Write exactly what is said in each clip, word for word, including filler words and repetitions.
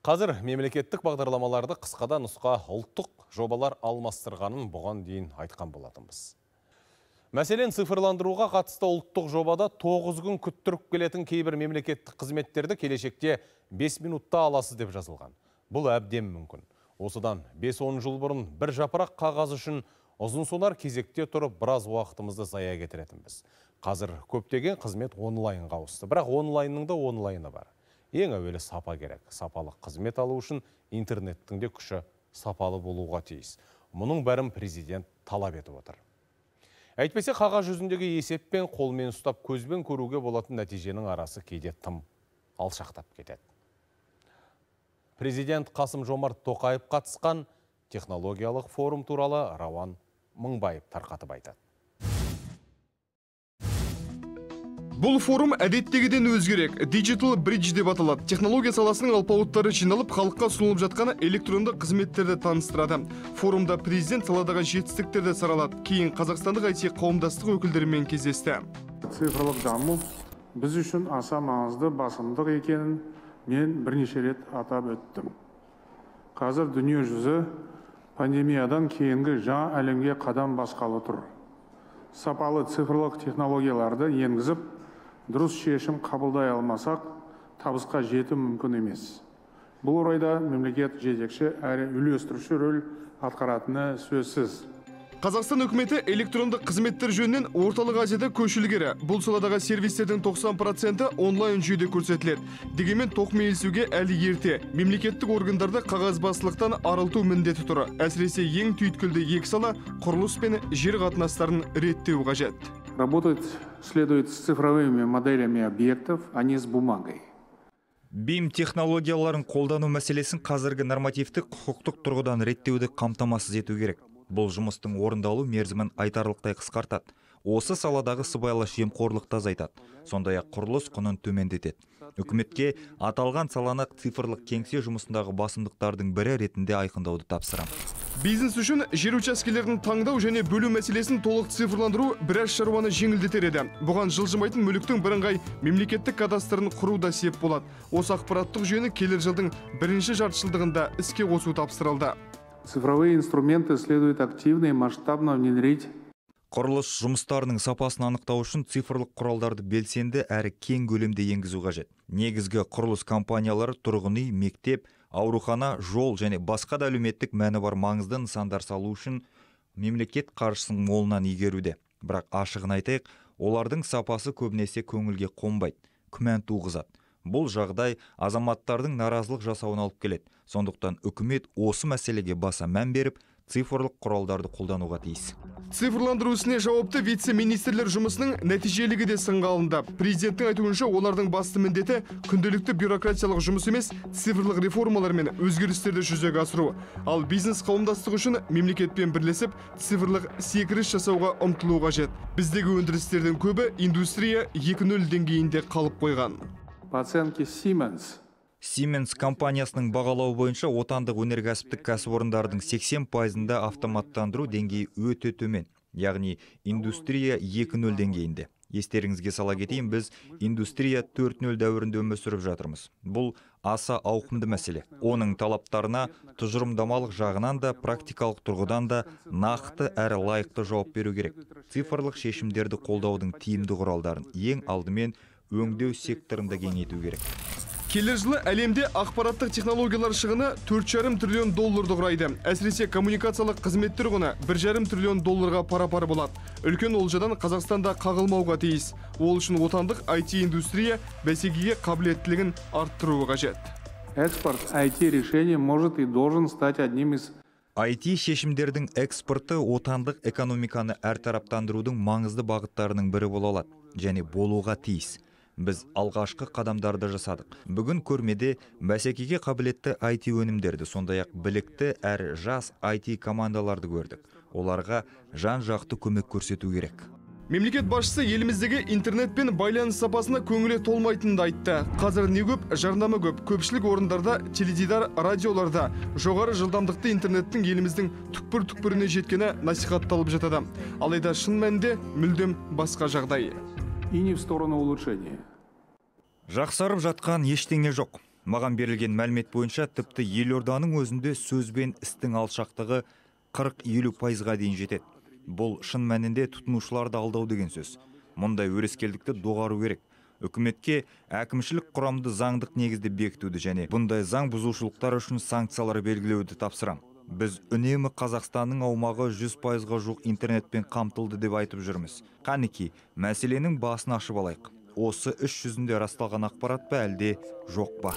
Қазір мемлекеттік бағдарламаларды қысқада нұсқа ұлттық жобалар алмастырғанын бұған дейін айтқан болатынбыз. Мәселен, цифрландыруға қатысты ұлттық жобада тоғыз күн күттіріп келетін кейбір мемлекеттік қызметтерді келешекте бес минутта аласыз деп жазылған. Бұл әбден мүмкін. Осыдан бес-он жыл бұрын бір жапырақ қағаз үшін ұзын сонар кезекте тұрып біраз уақытымызды зая кетіретінбіз. Қазір көптеген қызмет онлайнға ауысты. Бірақ онлайнның да онлайны бар. Ең әуелі сапа керек. Сапалы қызмет алу үшін интернеттің де күші сапалы болуға тиіс. Мұның бәрін президент талап етіп отыр. Әйтпесе қағаз жүзіндегі есеппен қолмен ұстап көзбен көруге болатын нәтиженің арасы кейде тым алшақтап кетеді. Президент Қасым-Жомарт Тоқаев қатысқан технологиялық форум туралы Рауан Мыңбаев тарқатып айтады. Бұл форум әдеттегіден өзгерек. Digital Bridge деп аталады. Технология саласының алпауыттары жиналып, халыққа ұсынылып жатқан электронды қызметтерді таныстырады. Форумда президент саладағы жетістіктерді саралады. Кейін қазақстандық ай ти қауымдастық өкілдерімен кездесті. Цифрлық даму біз үшін аса маңызды басымдық екенін мен бірнеше рет атап өттім. Қазір дүние жүзі пандемиядан кейінгі жаңа әлемге қадам басқалы тұр. Сапалы цифрлық технологияларды енгізіп, дұрыс шешім қабылдай алмасақ, табысқа жету мүмкін емес. Бұл орайда мемлекет жетекші әрі үйлестіруші рөл атқаратыны сөзсіз. Қазақстан үкіметі электрондық қызметтер жөнінен орталық Азияда көшілгері. Бұл саладағы сервистердің тоқсан проценті онлайн жүйеде көрсетіледі. Дегенмен тоқмейілсуге әлі ерте. Мемлекеттік органдарды қағазбастылықтан арылту міндеті тұр. Әсіресе ең түйткілді екі сала құрылыс пен жер қатынастарын реттеу қажет. Работать следует с цифровыми моделями объектов, а не с бумагой. бим технологияларын қолдану мәселесін қазіргі нормативтік құқықтық тұрғыдан реттеуді қамтамасыз ету керек. Бұл жұмыстың орындалу мерзімін айтарлықтай қысқартады. Осы саладағы сыбайлас жемқорлықты азайтады. Сондай-ақ құрылыс құнын төмендетеді. Үкіметке аталған саланы цифрлық кеңсе жұмысындағы басымдықтардың бірі ретінде айқындауды тапсырамын. Бизнес үшін жер учаскелерін таңдау және бөлу мәселесін толық цифрландыру біраз шаруаны жеңілдетер еді. Бұған жылжымайтын мүліктің бірыңғай мемлекеттік кадастрын құру да сеп болады. Осы ақпараттық жүйені келер жылдың бірінші жартыжылдығында іске қосу тапсырылды. Цифровые инструменты следует активно и масштабно внедрить. Құрылыс жұмыстарының сапасын анықтау үшін цифрлық құралдарды белсенді әрі кең көлемде енгізу қажет. Негізгі құрылыс компаниялары тұрғын үй, мектеп, аурухана, жол және басқа да әлеуметтік мәні бар маңызды нысандар салу үшін мемлекет қаржысын молынан игеруде. Бірақ ашығын айтайық, олардың сапасы көбінесе көңілге қонбайды, күмән туғызады. Бұл жағдай азаматтардың наразылық жасауына алып келеді. Сондықтан үкімет осы мәселеге баса мән беріп, цифрлық құралдарды қолдануға тиіс. Цифрландыру ісіне жауапты вице-министрлер жұмысының нәтижелігі де сынға алынды. Президенттің айтуынша, олардың басты міндеті күнделікті бюрократиялық жұмыс емес, цифрлық реформалар мен өзгерістерді жүзеге асыру. Ал бизнес қауымдастығы үшін мемлекетпен бірлесіп, цифрлық секіріс жасауға ұмтылу қажет. Біздегі өндірістердің көбі индустрия екі нөл деңгейінде қалып қойған. По оценке Siemens. Siemens компаниясының бағалауы бойынша отандық өнеркәсіптік кәсіпорындардың сексен пайызында автоматтандыру деңгейі өте төмен, яғни индустрия екі нөл деңгейінде. Естеріңізге сала кетейін, біз индустрия төрт нөл дәуірінде өмір сүріп жатырмыз. Бұл аса ауқымды мәселе. Оның талаптарына тұжырымдамалық жағынан да, практикалық тұрғыдан да нақты әрі лайықты жауап беру керек. Цифрлық шешімдерді қолдаудың тиімді құралдарын ең алдымен өңдеу секторында кеңейту керек. Келер жылы әлемде ақпараттық технологиялар шығыны төрт жарым триллион долларды құрайды. Әсіресе коммуникациялық қызметтер құны бір жарым триллион долларға пара-пар болады. Үлкен олжадан Қазақстанда қағылмауға тиіс. Ол үшін отандық ай ти индустрия бәсекеге қабілеттілігін арттыруы қажет. Экспорт ай ти решений может и должен стать одним из ай ти шешімдердің экспорты отандық экономиканы әртараптандырудың маңызды бағыттарының бірі бола алады және болуға тиіс. Біз алғашқы қадамдарды жасадық. Бүгін көрмеде бәсекеге қабілетті ай ти өнімдерді, сондай-ақ білікті әрі жас ай ти командаларды көрдік. Оларға жан-жақты көмек көрсету керек. Мемлекет басшысы еліміздегі интернет пен байланыс сапасына көңілі толмайтынды айтты. Қазір не көп, жарнама көп. Көпшілік орындарда, теледидар, радиоларда жоғары жылдамдықты интернеттің еліміздің түкпір-түкпіріне жеткені насихатталып жатады. Алайда шын мәнінде мүлдем басқа жағдай. И не в сторону улучшения. Жақсарып жатқан ештеңе жоқ. Маған берілген мәлімет бойынша тіпті елорданың өзінде сөз бен істің алшақтығы қырық елу пайызға дейін жетеді. Бұл шын мәнінде тұтынушыларды алдау деген сөз. Мұндай өрескелдікті доғару керек. Үкіметке әкімшілік құрамды заңдық негізде бекітуді және бұндай заң бұзушылықтар үшін санкциялар белгілеуді тапсырам. Біз үнемі Қазақстанның аумағы жүз пайызға жуық интернетпен қамтылды деп айтып жүрміз. Қанеки, мәселенің басын ашып алайық. Осы іс жүзінде расталған ақпарат па әлде жоқ па?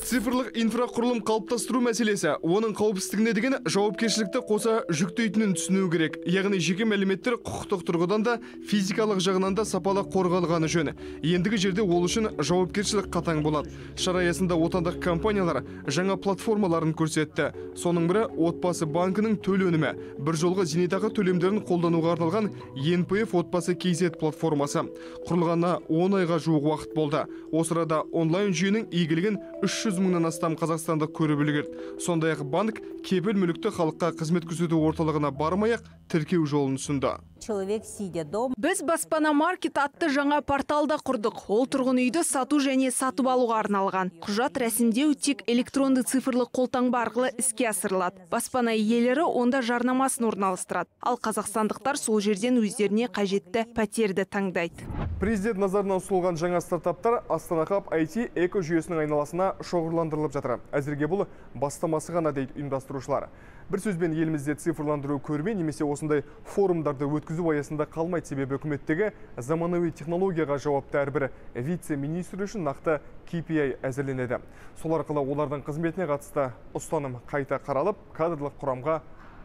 Цифрлық инфрақұрылым қалыптастыру мәселесі, оның қауіпсіздігіне деген жауапкершілікті қоса жүктейтінін түсіну керек. Яғни жеке мәліметтер құқықтық тұрғыдан да физикалық жағынан да сапалы қорғалғаны жөн. Ендігі жерде ол үшін жауапкершілік қатаң болады. Шара аясында отандық компаниялар жаңа платформаларын көрсетті. Соның бірі отбасы банкінің төл өнімі, бір жолғы зейнетақы төлемдерін қолдануға арналған ен пэ эф отбасы кей зет платформасы. Құрылғанына он айға жуық уақыт болды. Осы арада онлайн жүйенің игілігін үш жүз мыңнан астам қазақстандық көріп үлгерді. Сондай-ақ банк кепіл мүлікті халыққа қызмет көрсету орталығына бармай-ақ тіркеу жолын ұсынды. Біз баспана маркет атты жаңа порталда құрдық. Ол тұрғын үйді сату және сатып алуға арналған. Құжат рәсімдеу тек электронды цифрлық қолтаңба арқылы іске асырылады. Баспана иелері онда жарнамасын орналастырады. Ал қазақстандықтар сол жерден өздеріне қажетті пәтерді таңдайды. Президент назарынан ұсынылған жаңа стартаптар Астана Хаб ай ти эко жүйесінің айналасына шоғырландырылып жатыр. Әзірге бұл бастамасы ғана дейді ұйымдастырушылар. Бір сөзбен елімізде цифрландыру көрме немесе осындай форумдарды өткізу аясында қалмайды, себебі үкіметтегі заманауи технологияға жауапты әрбір вице-министр үшін нақты кей пи ай әзірленеді. Сол арқылы олардың қызметіне қатысты ұстаным қайта қаралып, кадрлық құрамға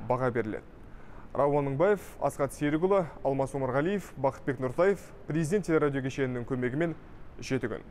баға беріледі. Рауан Мыңбаев, Асқат Серікұлы, Алмас Омарғалиев, Бақытбек Нұртаев, президент телерадио кешенінің көмегімен жеті күн.